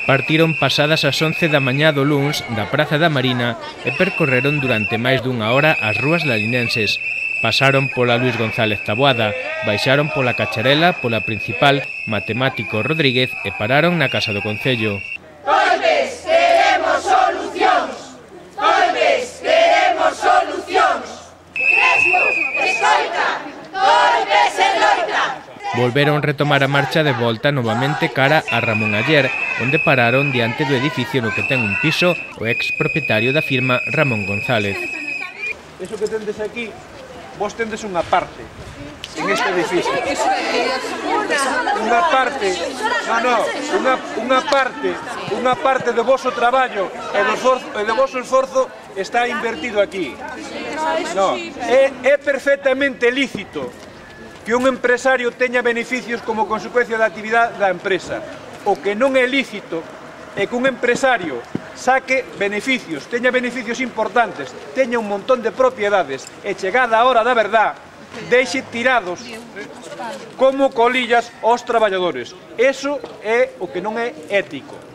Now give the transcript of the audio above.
Partiron pasadas as 11 da mañá do luns da Praza da Marina e percorreron durante máis dunha hora as rúas lalinenses. Pasaron pola Luis González Taboada, baixaron pola Cacharela, pola Principal, Matemático Rodríguez e pararon na Casa do Concello. Golpes, queremos solucións! Golpes, queremos solucións! Crespo, escoita! Golpes e loita! Volveron retomar a marcha de volta novamente cara a Ramón Aller, onde pararon diante do edificio no que ten un piso o ex propietario da firma Ramón González. Eso que tendes aquí, vos tendes unha parte en este edificio. Unha parte do vosso traballo e do vosso esforzo está invertido aquí. No, é perfectamente lícito que un empresario teña beneficios como consecuencia da actividade da empresa. O que non é lícito é que un empresario saque beneficios, teña beneficios importantes, teña un montón de propiedades e chegada a hora da verdad, deixe tirados como colillas aos traballadores. Eso é o que non é ético.